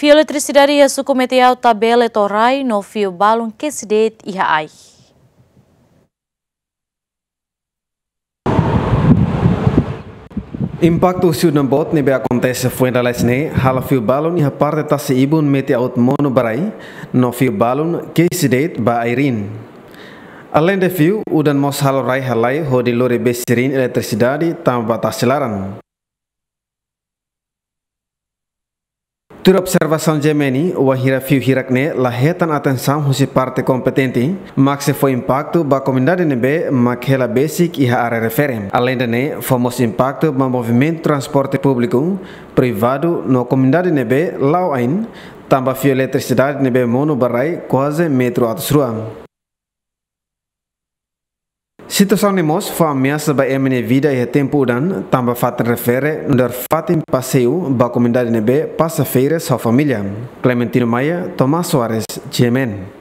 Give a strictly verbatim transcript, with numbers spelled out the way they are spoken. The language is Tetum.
Fio eletrisidade iha suku Metiau tabele to'o rai no fio balun kesi de'it iha ai. Impaktu husi udan boot ne'ebé akontese foin lalais ne'e halo fio balun iha parte tasi-ibun Metiau monu ba rai no fio balun kesi de'it ba ai-riin. Aleinde fio, udan mós halo rai halai hodi lori besi-riin eletrisidade tama ba tasi laran. Tuir observasaun GMN, wainhira fio hirak ne'e la hetan atensaun husi parte kompetente, mak sei fó impaktu ba komunidade ne'ebé mak hela besik iha área refere. Aleinde ne'e, fó mós impaktu ba movimentu transporte públiku, privadu no komunidade ne'ebé la'o ain, tanba fio eletrisidade ne'ebé monu ba rai kuaze metru atus rua. Situasaun ne'e mós fó ameasa ba ema nia vida iha tempu udan, tanba fatin refere nu'udar fatin paseiu ba komunidade ne'ebé pasa férias ho família. Clementino Maia, Tomás Soares, GMN.